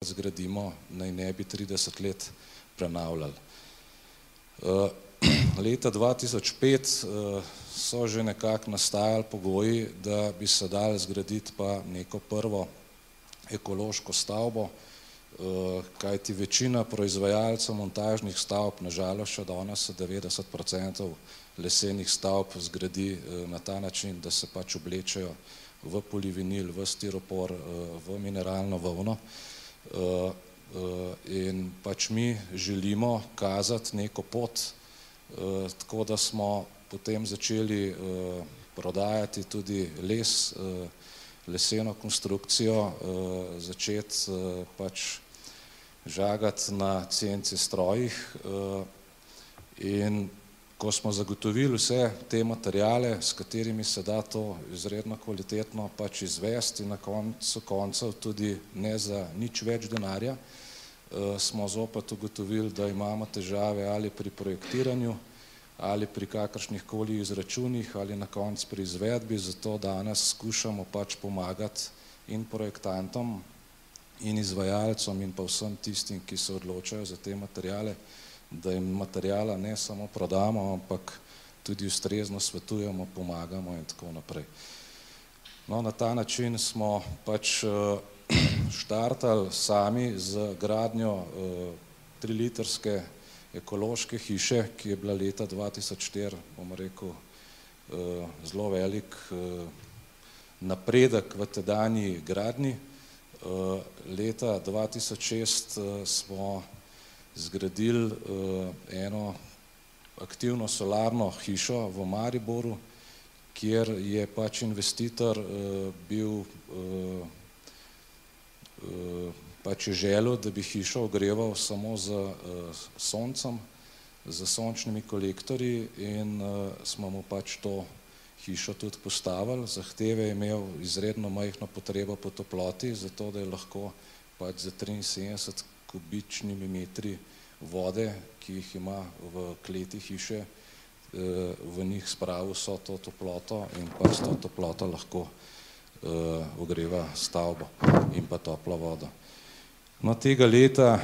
zgradimo, naj ne bi 30 let prenavljali. Leta 2005 so že nekako nastajali pogoji, da bi se dalo zgraditi pa neko prvo ekološko stavbo, kajti večina proizvajalcev montažnih stavb, na žalost še danes 90% lesenih stavb zgradi na ta način, da se pač oblečejo v polivinil, v stiropor, v mineralno volno. In pač mi želimo kazati neko pot, tako da smo potem začeli prodajati tudi les, leseno konstrukcijo, začeti pač žagati na CNC strojih, in ko smo zagotovili vse te materiale, s katerimi se da to izredno kvalitetno pač izvesti, na koncu koncev tudi ne za nič več denarja, smo zopet ugotovili, da imamo težave ali pri projektiranju, ali pri kakršnih koli izračunih, ali na koncu pri izvedbi, zato danes skušamo pač pomagati in projektantom, in izvajalcem, in pa vsem tistim, ki se odločajo za te materiale, da jim materijala ne samo prodamo, ampak tudi ustrezno svetujemo, pomagamo in tako naprej. No, na ta način smo pač štartali sami z gradnjo 3-litrske ekološke hiše, ki je bila leta 2004, bom rekel, zelo velik napredek v tedanji gradnji. Leta 2006 smo zgradili eno aktivno solarno hišo v Mariboru, kjer je pač investitor bil pač je želel, da bi hišo ogreval samo z soncem, z sončnimi kolektorji, in smo mu pač to hišo tudi postavili. Zahteve je imel izredno majhno potrebo po toploti, zato da je lahko pač za 73 kubičnimi metri vode, ki jih ima v kleti hiše, v njih spravil vso to toploto in pa s to toploto lahko ogreva stavbo in pa toplo vodo. No, tega leta